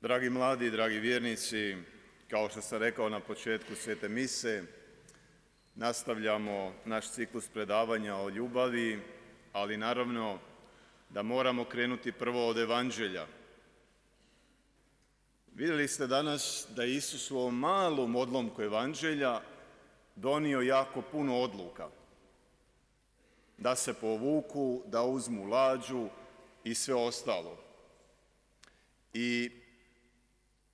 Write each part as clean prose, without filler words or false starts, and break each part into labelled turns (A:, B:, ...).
A: Dragi mladi, dragi vjernici, kao što sam rekao na početku Svete mise, nastavljamo naš ciklus predavanja o ljubavi, ali naravno da moramo krenuti prvo od Evanđelja. Vidjeli ste danas da je Isus u ovom malom odlomku Evanđelja donio jako puno odluka. Da se povuku, da uzmu lađu i sve ostalo. I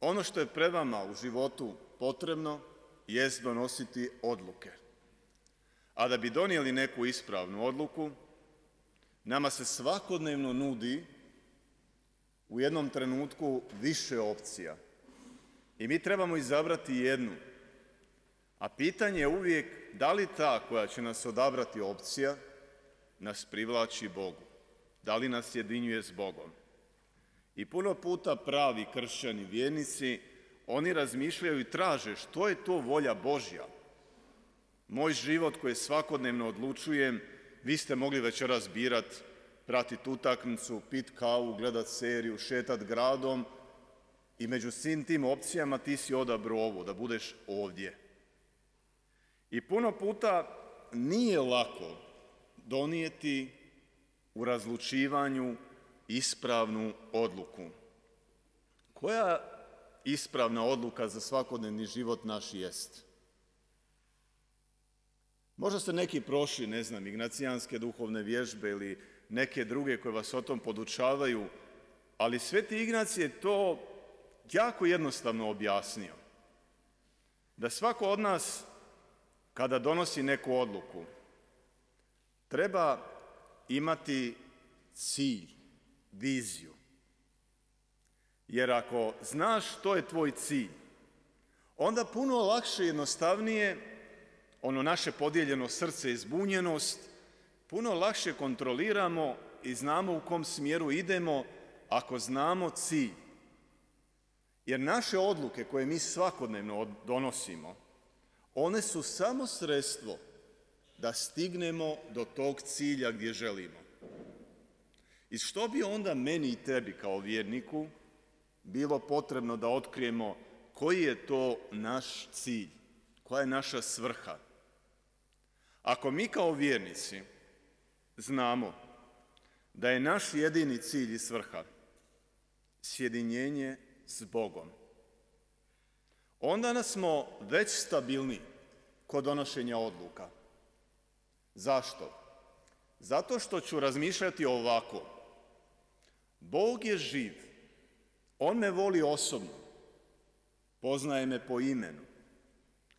A: ono što je pred vama u životu potrebno jest donositi odluke. A da bi donijeli neku ispravnu odluku, nama se svakodnevno nudi u jednom trenutku više opcija. I mi trebamo izabrati jednu. A pitanje je uvijek da li ta koja će nas odabrati opcija nas privlači Bogu. Da li nas jedinjuje s Bogom. I puno puta pravi kršćani, vjernici, oni razmišljaju i traže što je to volja Božja. Moj život koji svakodnevno odlučujem, vi ste mogli večeras birati, pratiti utakmicu, pit kavu, gledat seriju, šetat gradom i među svim tim opcijama ti si odabrao ovo, da budeš ovdje. I puno puta nije lako donijeti u razlučivanju ispravnu odluku. Koja ispravna odluka za svakodnevni život naš jest? Možda ste neki prošli, ignacijanske duhovne vježbe ili neke druge koje vas o tom podučavaju, ali Sveti Ignacij je to jako jednostavno objasnio. Da svako od nas, kada donosi neku odluku, treba imati cilj, viziju. Jer ako znaš što je tvoj cilj, onda puno lakše i jednostavnije ono naše podijeljeno srce i zbunjenost, puno lakše kontroliramo i znamo u kom smjeru idemo ako znamo cilj. Jer naše odluke koje mi svakodnevno donosimo, one su samo sredstvo da stignemo do tog cilja gdje želimo. I što bi onda meni i tebi kao vjerniku bilo potrebno da otkrijemo koji je to naš cilj, koja je naša svrha? Ako mi kao vjernici znamo da je naš jedini cilj i svrha sjedinjenje s Bogom, onda nas smo već stabilni kod donošenja odluka. Zašto? Zato što ću razmišljati ovako. Bog je živ. On me voli osobno. Poznaje me po imenu.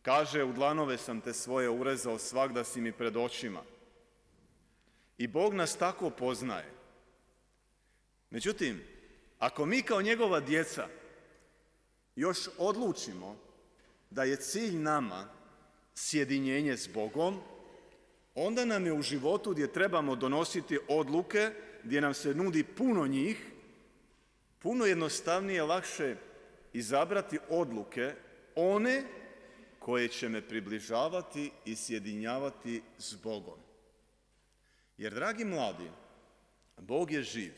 A: Kaže, u dlanove sam te svoje urezao, svagda si mi pred očima. I Bog nas tako poznaje. Međutim, ako mi kao njegova djeca još odlučimo da je cilj nama sjedinjenje s Bogom, onda nam je u životu gdje trebamo donositi odluke, gdje nam se nudi puno njih, puno jednostavnije, lakše izabrati odluke, one koje će me približavati i sjedinjavati s Bogom. Jer, dragi mladi, Bog je živ.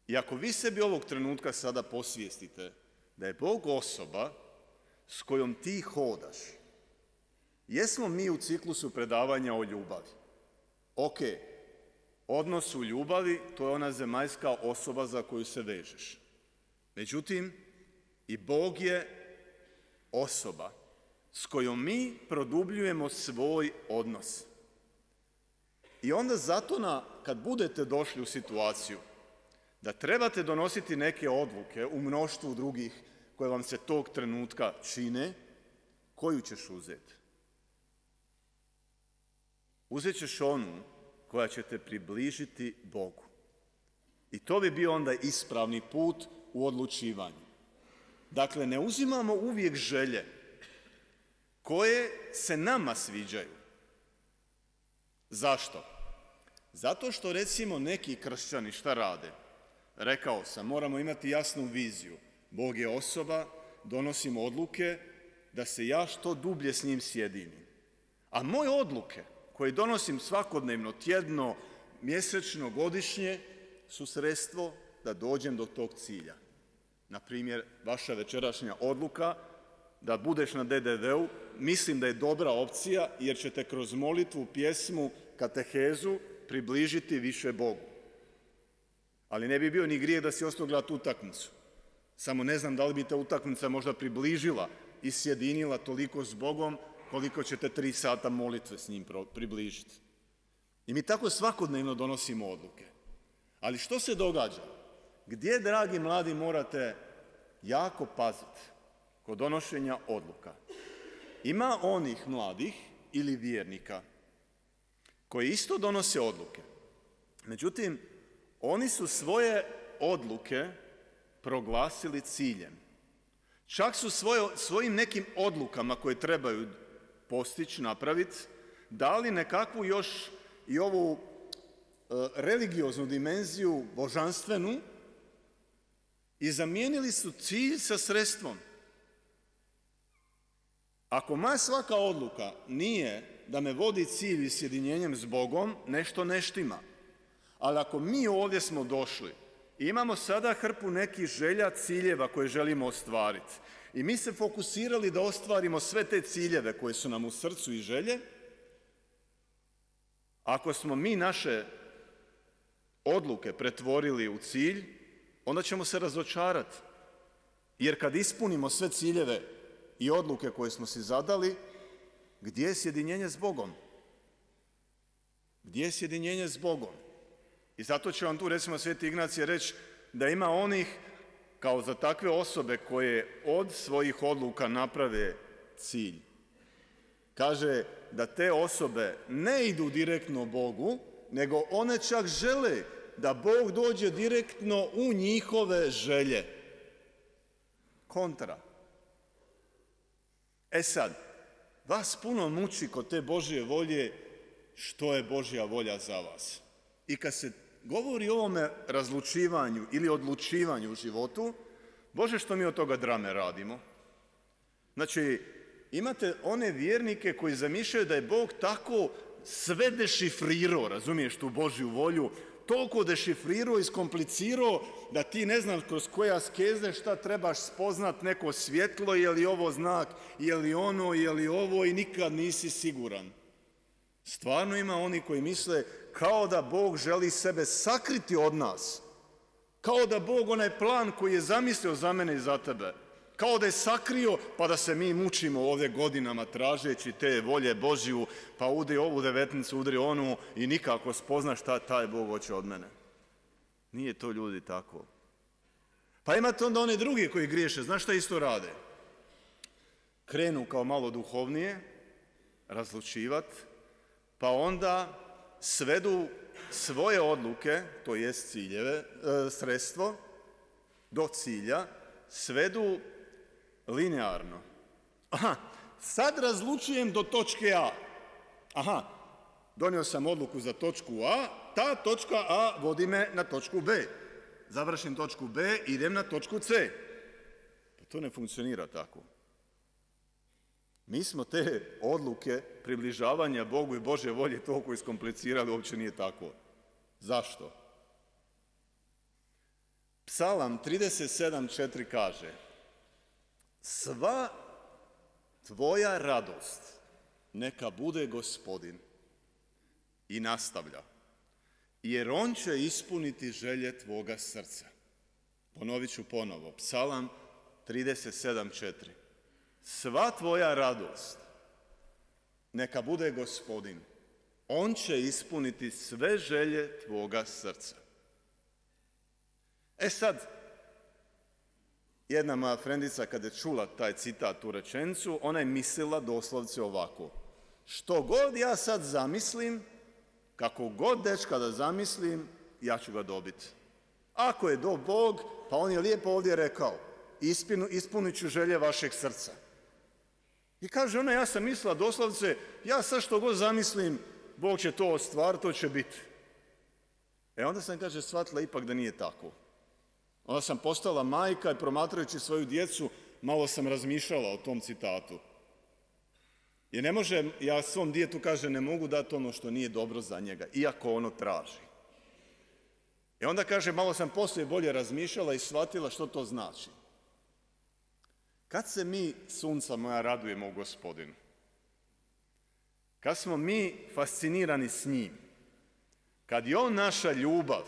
A: I ako vi sebi ovog trenutka sada posvijestite da je Bog osoba s kojom ti hodaš, jesmo mi u ciklusu predavanja o ljubavi. Ok, odnos u ljubavi, to je ona zemaljska osoba za koju se vežeš. Međutim, i Bog je osoba s kojom mi produbljujemo svoj odnos. I onda zato kad budete došli u situaciju da trebate donositi neke odluke u mnoštvu drugih koje vam se tog trenutka čine, koju ćeš uzeti? Uzet ćeš onu koja će te približiti Bogu. I to bi bio onda ispravni put u odlučivanju. Dakle, ne uzimamo uvijek želje koje se nama sviđaju. Zašto? Zato što, recimo, neki kršćani šta rade? Rekao sam, moramo imati jasnu viziju. Bog je osoba, donosimo odluke da se ja što dublje s njim sjedinim. A moje odluke koje donosim svakodnevno, tjedno, mjesečno, godišnje, su sredstvo da dođem do tog cilja. Na primjer, vaša večerašnja odluka da budeš na DDV-u, mislim da je dobra opcija jer ćete kroz molitvu, pjesmu, katehezu približiti više Bogu. Ali ne bi bio ni grijeh da si ostao gledati utakmicu. Samo ne znam da li bi ta utakmica možda približila i sjedinila toliko s Bogom koliko ćete 3 sata molitve s njim približiti. I mi tako svakodnevno donosimo odluke. Ali što se događa? Gdje, dragi mladi, morate jako paziti kod donošenja odluka? Ima onih mladih ili vjernika koji isto donose odluke. Međutim, oni su svoje odluke proglasili ciljem. Čak su svojim nekim odlukama koje trebaju postići, napraviti, dali nekakvu još i ovu religioznu dimenziju, božanstvenu, i zamijenili su cilj sa sredstvom. Ako moja svaka odluka nije da me vodi cilj i sjedinjenjem s Bogom, nešto ne štima. Ali ako mi ovdje smo došli i imamo sada hrpu nekih želja, ciljeva koje želimo ostvariti i mi se fokusirali da ostvarimo sve te ciljeve koje su nam u srcu i želje, ako smo mi naše odluke pretvorili u cilj, onda ćemo se razočarati. Jer kad ispunimo sve ciljeve i odluke koje smo si zadali, gdje je sjedinjenje s Bogom? Gdje je sjedinjenje s Bogom? I zato će vam tu, recimo, Sveti Ignacije reći da ima onih, kao za takve osobe koje od svojih odluka naprave cilj. Kaže da te osobe ne idu direktno Bogu, nego one čak žele da Bog dođe direktno u njihove želje. Kontra. E sad, vas puno muči kod te Božje volje što je Božja volja za vas. I kad se govori o ovome razlučivanju ili odlučivanju u životu, Bože, što mi od toga drame radimo? Znači, imate one vjernike koji zamišljaju da je Bog tako sve dešifrirao, razumiješ, tu Božju volju, toliko dešifrirao i skomplicirao da ti ne znaš kroz koje askeze šta trebaš spoznat, neko svjetlo, je li ovo znak, je li ono, je li ovo, i nikad nisi siguran. Stvarno ima oni koji misle kao da Bog želi sebe sakriti od nas, kao da Bog onaj plan koji je zamislio za mene i za tebe, kao da je sakrio pa da se mi mučimo ovdje godinama tražeći te volje Božju, pa udri ovu devetnicu, udri onu i nikako spozna šta taj Bog hoće od mene. Nije to, ljudi, tako. Pa imate onda one drugi koji griješe, znaš šta isto rade? Krenu kao malo duhovnije razlučivati, pa onda svedu svoje odluke, to jest ciljeve, sredstvo, do cilja, svedu linearno. Aha, sad razlučujem do točke A. Aha, donio sam odluku za točku A, ta točka A vodi me na točku B. Završim točku B, idem na točku C. Pa to ne funkcionira tako. Mi smo te odluke približavanja Bogu i Božje volje toliko iskomplicirali, uopće nije tako. Zašto? Psalam 37.4 kaže: sva tvoja radost neka bude Gospodin. I nastavlja: jer on će ispuniti želje tvoga srca. Ponovit ću ponovo, Psalam 37.4. Sva tvoja radost neka bude Gospodin. On će ispuniti sve želje tvoga srca. E sad, jedna moja frendica kad je čula taj citat, tu rečenicu, ona je mislila doslovce ovako: što god ja sad zamislim, kako god dečka da zamislim, ja ću ga dobiti. Ako je do Bog, pa on je lijepo ovdje rekao: ispunit ću želje vašeg srca. I kaže ona, ja sam mislila doslovce, ja sad što god zamislim, Bog će to ostvariti, to će biti. E onda sam, kaže, shvatila ipak da nije tako. Onda sam postala majka i promatrajući svoju djecu, malo sam razmišljala o tom citatu. Jer ne može, ja svom djetu, kaže, ne mogu dati ono što nije dobro za njega, iako ono traži. I onda, kaže, malo sam poslije bolje razmišljala i shvatila što to znači. Kad se mi, sunca moja, radujemo u Gospodinu? Kad smo mi fascinirani s njim? Kad je on naša ljubav,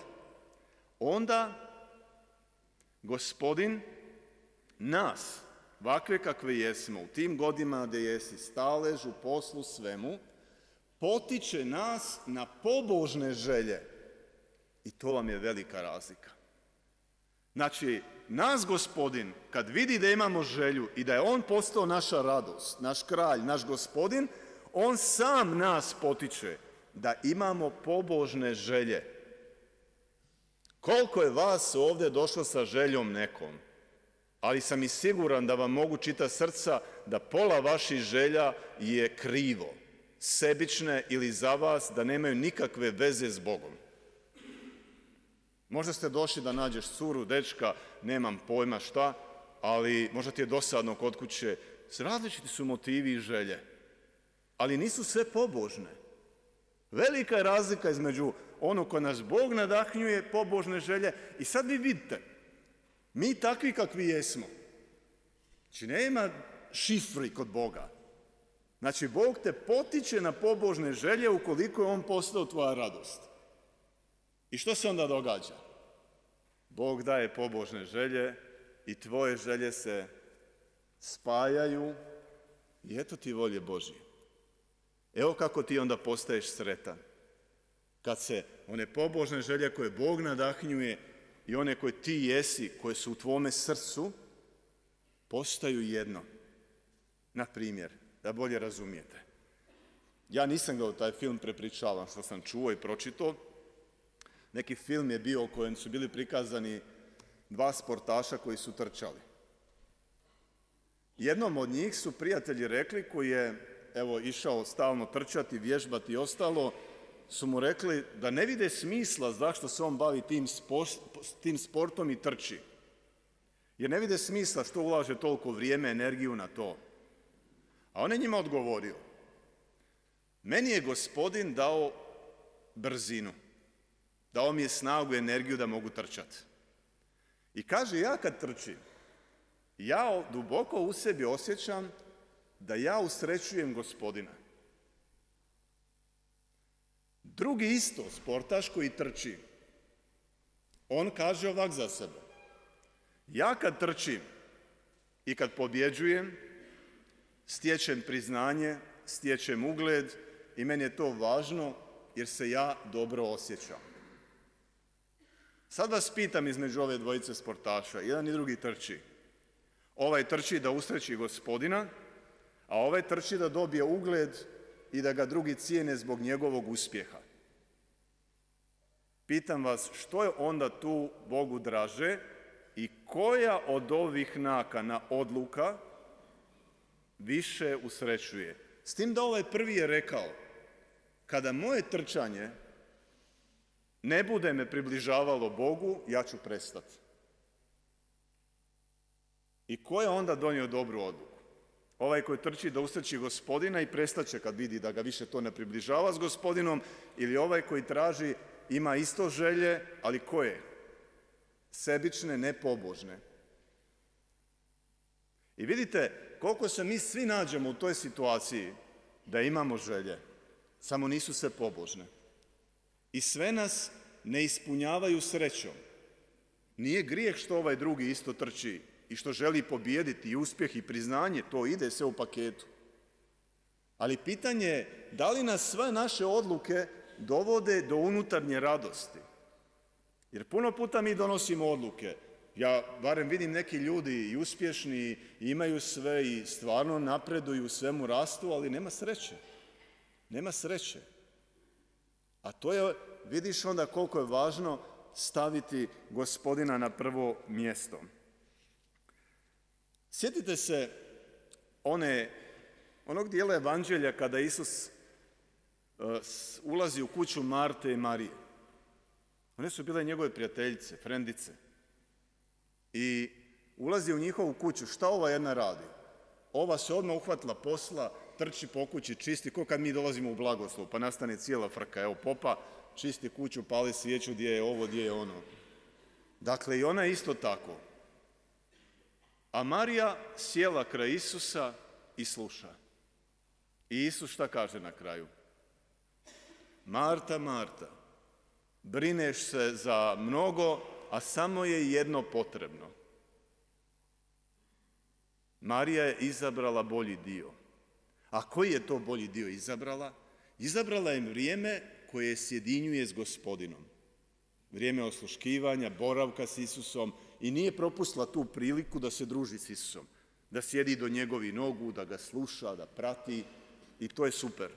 A: onda Gospodin nas, ovakve kakve jesmo, u tim godinama gdje jesi, stalež u poslu svemu, potiče nas na pobožne želje. I to vam je velika razlika. Znači, nas Gospodin, kad vidi da imamo želju i da je on postao naša radost, naš kralj, naš Gospodin, on sam nas potiče da imamo pobožne želje. Koliko je vas ovdje došlo sa željom nekom, ali sam i siguran da vam mogu čitati srca da pola vaših želja je krivo, sebične ili za vas da nemaju nikakve veze s Bogom. Možda ste došli da nađeš curu, dečka, nemam pojma šta, ali možda ti je dosadno kod kuće. Različiti su motivi i želje, ali nisu sve pobožne. Velika je razlika između onog ko nas Bog nadahnjuje, pobožne želje, i sad vi vidite, mi takvi kakvi jesmo. Znači nema šifri kod Boga. Znači Bog te potiče na pobožne želje ukoliko je on postao tvoja radost. I što se onda događa? Bog daje pobožne želje i tvoje želje se spajaju i eto ti volje Božje. Evo kako ti onda postaješ sretan. Kad se one pobožne želje koje Bog nadahnjuje i one koje ti jesi, koje su u tvome srcu, postaju jedno. Na primjer, da bolje razumijete. Ja nisam ga u taj film prepričavan, što sam čuo i pročitao. Neki film je bio u kojem su bili prikazani dva sportaša koji su trčali. Jednom od njih su prijatelji rekli, koji je išao stalno trčati, vježbati i ostalo, su mu rekli da ne vide smisla zašto se on bavi tim sportom i trči. Jer ne vide smisla što ulaže toliko vrijeme, energiju na to. A on je njima odgovorio: meni je Gospodin dao brzinu, dao mi je snagu i energiju da mogu trčati. I kaže, ja kad trčim, ja duboko u sebi osjećam da ja usrećujem Gospodina. Drugi isto sportaš koji trči, on kaže ovak za sebe: ja kad trčim i kad pobjeđujem, stječem priznanje, stječem ugled i meni je to važno jer se ja dobro osjećam. Sad vas pitam između ove dvojice sportaša, jedan i drugi trči. Ovaj trči da usreći Gospodina, a ovaj trči da dobije ugled i da ga drugi cijene zbog njegovog uspjeha. Pitam vas, što je onda tu Bogu draže i koja od ovih nakana, odluka, više usrećuje? S tim da ovaj prvi je rekao: kada moje trčanje ne bude me približavalo Bogu, ja ću prestati. I ko je onda donio dobru odluku? Ovaj koji trči da usreći Gospodina i prestaće kad vidi da ga više to ne približava s Gospodinom, ili ovaj koji traži, ima isto želje, ali koje? Sebične, nepobožne. I vidite koliko se mi svi nađemo u toj situaciji da imamo želje, samo nisu sve pobožne. I sve nas ne ispunjavaju srećom. Nije grijeh što ovaj drugi isto trči i što želi pobijediti, i uspjeh i priznanje, to ide sve u paketu. Ali pitanje je da li nas sve naše odluke dovode do unutarnje radosti. Jer puno puta mi donosimo odluke. Ja barem vidim neki ljudi i uspješni i imaju sve i stvarno napreduju, u svemu rastu, ali nema sreće. Nema sreće. A to je, vidiš onda koliko je važno staviti Gospodina na prvo mjesto. Sjetite se onog dijela evanđelja kada Isus ulazi u kuću Marte i Marije. One su bile njegove prijateljice, frendice. I ulazi u njihovu kuću. Šta ova jedna radi? Ova se odmah uhvatila posla, trči po kući, čisti, ko kad mi dolazimo u blagoslov, pa nastane cijela frka. Evo, popa čisti kuću, pali svijeću, gdje je ovo, gdje je ono. Dakle, i ona isto tako. A Marija sjela kraj Isusa i sluša. I Isus šta kaže na kraju? Marta, Marta, brineš se za mnogo, a samo je jedno potrebno. Marija je izabrala bolji dio. A koji je to bolji dio izabrala? Izabrala je vrijeme koje sjedinjuje s Gospodinom. Vrijeme osluškivanja, boravka s Isusom i nije propustila tu priliku da se druži s Isusom. Da sjedi do njegovih nogu, da ga sluša, da prati i to je super.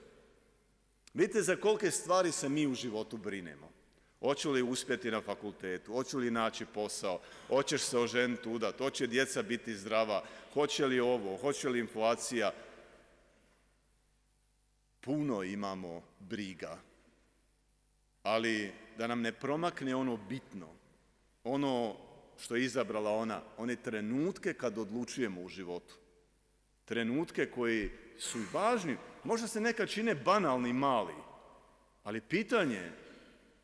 A: Vidite za kolike stvari se mi u životu brinemo. Hoću li uspjeti na fakultetu, hoću li naći posao, hoćeš se oženiti, udati, hoće djeca biti zdrava, hoće li ovo, hoće li inflacija. Puno imamo briga, ali da nam ne promakne ono bitno, ono što je izabrala ona, one trenutke kad odlučujemo u životu. Trenutke koji su važni, možda se nekad čine banalni, mali, ali pitanje je,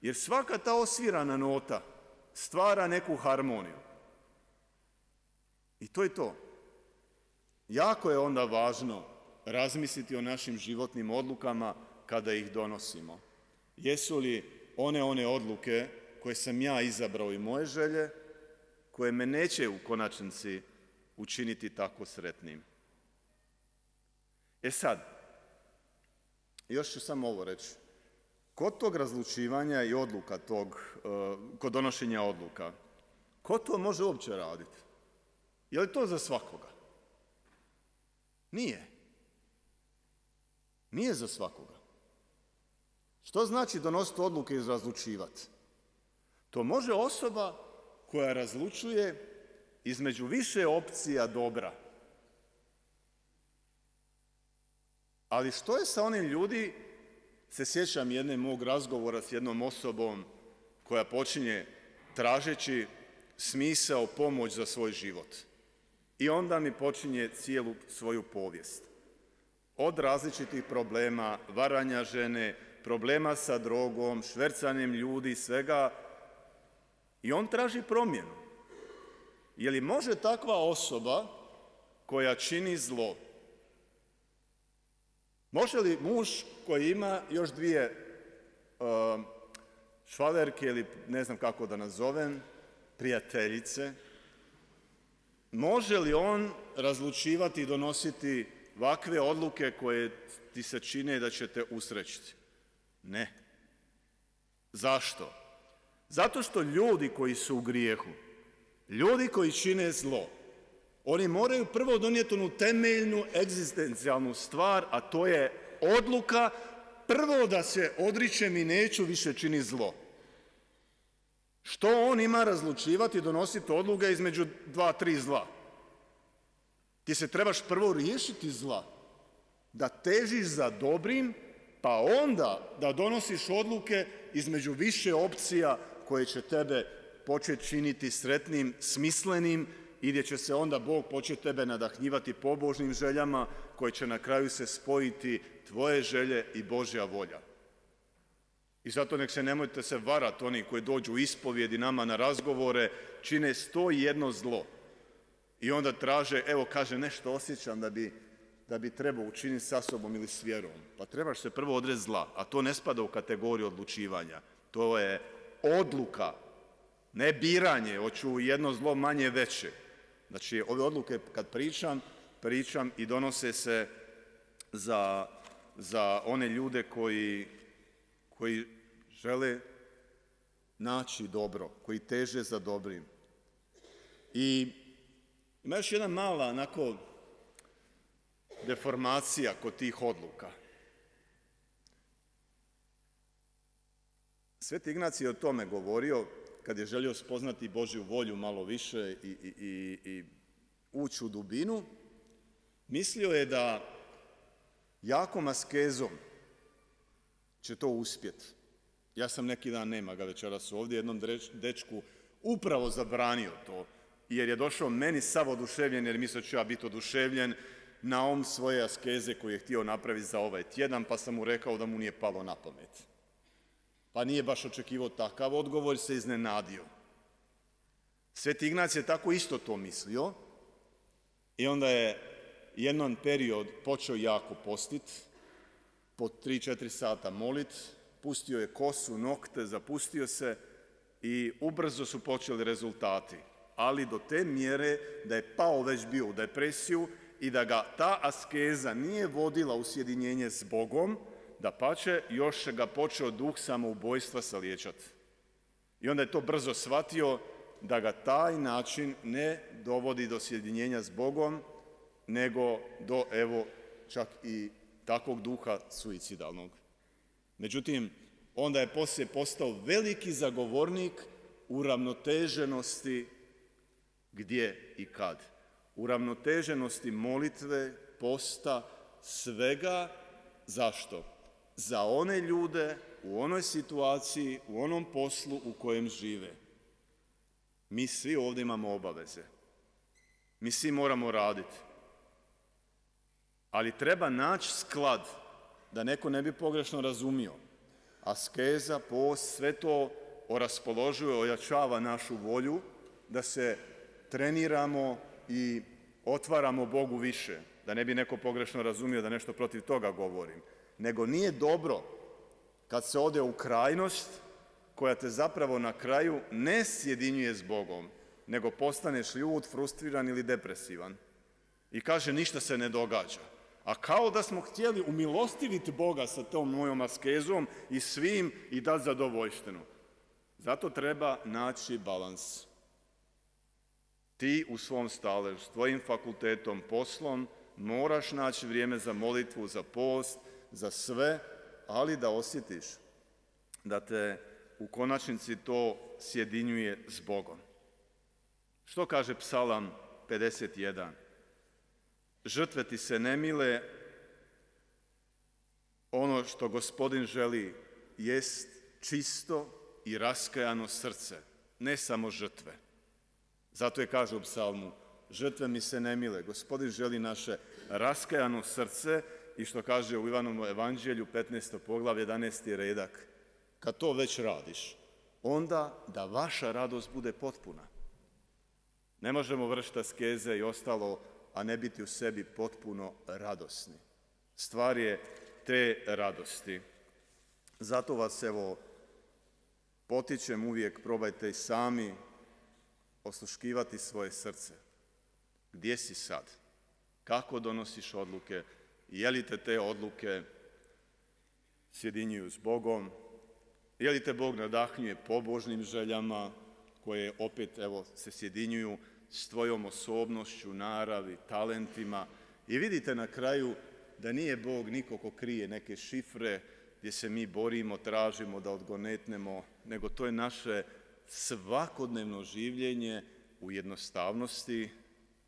A: jer svaka ta osvirana nota stvara neku harmoniju. I to je to. Jako je onda važno razmisliti o našim životnim odlukama kada ih donosimo. Jesu li one odluke koje sam ja izabrao i moje želje, koje me neće u konačnici učiniti tako sretnim. E sad, još ću samo ovo reći. Kod tog razlučivanja i odluka kod donošenja odluka, ko to može uopće raditi? Je li to za svakoga? Nije. Nije za svakoga. Što znači donositi odluke i razlučivati? To može osoba koja razlučuje između više opcija dobra. Ali što je sa onim ljudi, se sjećam jedne mog razgovora s jednom osobom koja počinje tražeći smisao, pomoć za svoj život. I onda mi počinje cijelu svoju povijest. Od različitih problema, varanja žene, problema sa drogom, švercanjem ljudi, svega. I on traži promjenu. Je li može takva osoba koja čini zlo, može li muž koji ima još dvije švalerke ili ne znam kako da nazovem, prijateljice, može li on razlučivati i donositi ovakve odluke koje ti se čine da će te usrećiti? Ne. Zašto? Zato što ljudi koji su u grijehu, ljudi koji čine zlo, oni moraju prvo donijeti onu temeljnu egzistencijalnu stvar, a to je odluka prvo da se odričem i neću više činiti zlo. Što on ima razlučivati i donositi odluke između 2-3 zla? Ti se trebaš prvo riješiti zla, da težiš za dobrim, pa onda da donosiš odluke između više opcija koje će tebe početi činiti sretnim, smislenim i gdje će se onda Bog početi tebe nadahnjivati pobožnim željama koje će na kraju se spojiti tvoje želje i Božja volja. I zato nek se nemojte se varati oni koji dođu u ispovjedi nama na razgovore, čine 101 zlo. I onda traže, evo kaže nešto osjećam da bi trebao učiniti sa sobom ili s vjerom. Pa trebaš se prvo odreći zla, a to ne spada u kategoriju odlučivanja. To je odluka, ne biranje, hoću jedno zlo manje veće. Znači, ove odluke kad pričam i donose se za one ljude koji žele naći dobro, koji teže za dobrim. I ima još jedna mala onako deformacija kod tih odluka. Sveti Ignacij je o tome govorio kad je želio spoznati Božju volju malo više i ući u dubinu. Mislio je da jakom askezom će to uspjeti. Ja sam neki dan, nema ga večeras ovdje, jednom dečku upravo zabranio to, jer je došao meni sav oduševljen, jer mislio ću ja biti oduševljen na svoje askeze koje je htio napraviti za ovaj tjedan, pa sam mu rekao da mu nije palo na pamet. Pa nije baš očekivao takav odgovor, se iznenadio. Sveti Ignacij je tako isto to mislio I onda je jedan period počeo jako postit, po 3-4 sata molit, pustio je kosu, nokte, zapustio se i ubrzo su počeli rezultati. Ali do te mjere da je pao već bio u depresiju i da ga ta askeza nije vodila u sjedinjenje s Bogom, dapače, još ga počeo duh samoubojstva saliječati. I onda je to brzo shvatio da ga taj način ne dovodi do sjedinjenja s Bogom, nego do, evo, čak i takvog duha suicidalnog. Međutim, onda je poslije postao veliki zagovornik uravnoteženosti gdje i kad. Uravnoteženosti molitve, posta, svega. Zašto? Za one ljude u onoj situaciji, u onom poslu u kojem žive. Mi svi ovdje imamo obaveze. Mi svi moramo raditi. Ali treba naći sklad, da neko ne bi pogrešno razumio. Askeza, post, sve to oraspoložuje, ojačava našu volju da se treniramo i otvaramo Bogu više. Da ne bi neko pogrešno razumio da nešto protiv toga govorim. Nego nije dobro kad se ode u krajnost koja te zapravo na kraju ne sjedinjuje s Bogom, nego postaneš ljut, frustriran ili depresivan. I kaže ništa se ne događa. A kao da smo htjeli umilostiviti Boga sa tom mojom askezom i svim i dati zadovoljštinu. Zato treba naći balans. Ti u svom staležu, s tvojim fakultetom, poslom, moraš naći vrijeme za molitvu, za post, za sve, ali da osjetiš da te u konačnici to sjedinjuje s Bogom. Što kaže Psalam 51? Žrtve ti se ne mile, ono što Gospodin želi jest čisto i raskajano srce, ne samo žrtve. Zato je kaže u psalmu, žrtve mi se ne mile, Gospodin želi naše raskajano srce i što kaže u Ivanovom evanđelju 15. poglavlje 11. redak. Kad to već radiš, onda da vaša radost bude potpuna. Ne možemo vršiti askeze i ostalo, a ne biti u sebi potpuno radosni. Stvar je te radosti. Zato vas evo potičem uvijek, probajte i sami osluškivati svoje srce. Gdje si sad? Kako donosiš odluke? Je li te odluke sjedinjuju s Bogom? Je li te Bog nadahnjuje pobožnim željama koje opet evo se sjedinjuju s tvojom osobnošću, naravi, talentima? I vidite na kraju da nije Bog niko ko krije neke šifre gdje se mi borimo, tražimo da odgonetnemo, nego to je naše svakodnevno življenje u jednostavnosti,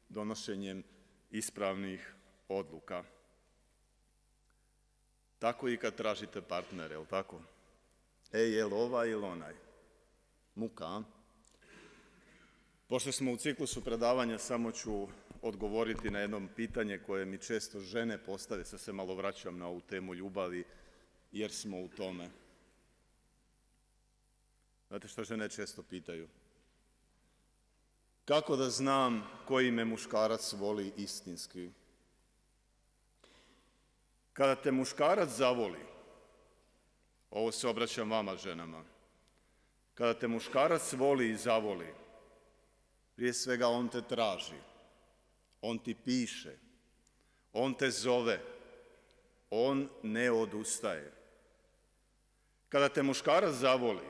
A: donošenjem ispravnih odluka. Tako i kad tražite partnere, jel tako? Jel ovaj ili onaj? Muka, a? Pošto smo u ciklusu predavanja, samo ću odgovoriti na jedno pitanje koje mi često žene postave, sad se malo vraćam na ovu temu ljubavi, jer smo u tome. Znate što žene često pitaju? Kako da znam koji me muškarac voli istinski? Kada te muškarac zavoli, ovo se obraćam vama ženama, kada te muškarac voli i zavoli, prije svega on te traži, on ti piše, on te zove, on ne odustaje. Kada te muškarac zavoli,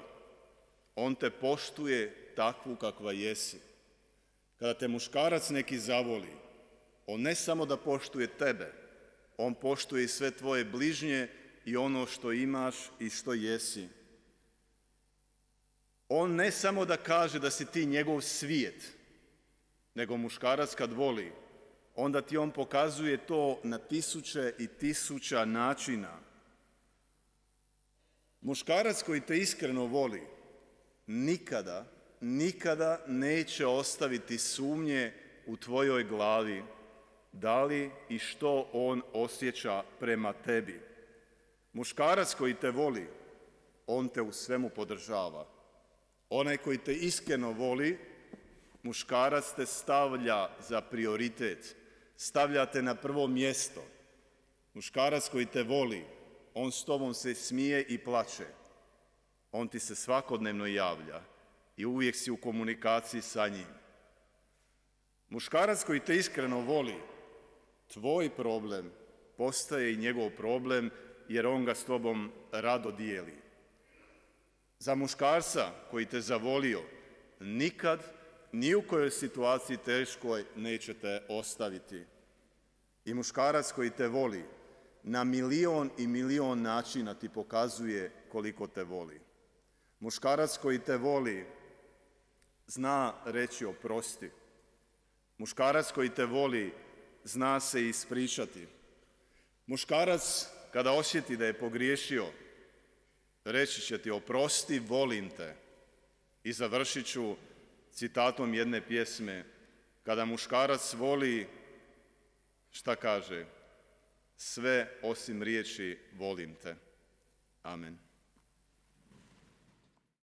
A: on te poštuje takvu kakva jesi. Kada te muškarac neki zavoli, on ne samo da poštuje tebe, on poštuje i sve tvoje bližnje i ono što imaš i što jesi. On ne samo da kaže da si ti njegov svijet, nego muškarac kad voli, onda ti on pokazuje to na tisuće i tisuća načina. Muškarac koji te iskreno voli, nikada neće ostaviti sumnje u tvojoj glavi da li i što on osjeća prema tebi. Muškarac koji te voli, on te u svemu podržava. Onaj koji te iskreno voli, muškarac te stavlja za prioritet. stavljate na prvo mjesto. Muškarac koji te voli, on s tobom se smije i plače. On ti se svakodnevno javlja i uvijek si u komunikaciji sa njim. Muškarac koji te iskreno voli, tvoj problem postaje i njegov problem, jer on ga s tobom rado dijeli. Za muškarca koji te zavolio, nikad, ni u kojoj situaciji teškoj nećete ostaviti. I muškarac koji te voli, na milion i milion načina ti pokazuje koliko te voli. Muškarac koji te voli, zna reći oprosti. Muškarac koji te voli, zna se ispričati. Muškarac, kada osjeti da je pogriješio, reći će ti oprosti, volim te. I završit ću citatom jedne pjesme. Kada muškarac voli, šta kaže? Sve osim riječi volim te. Amen.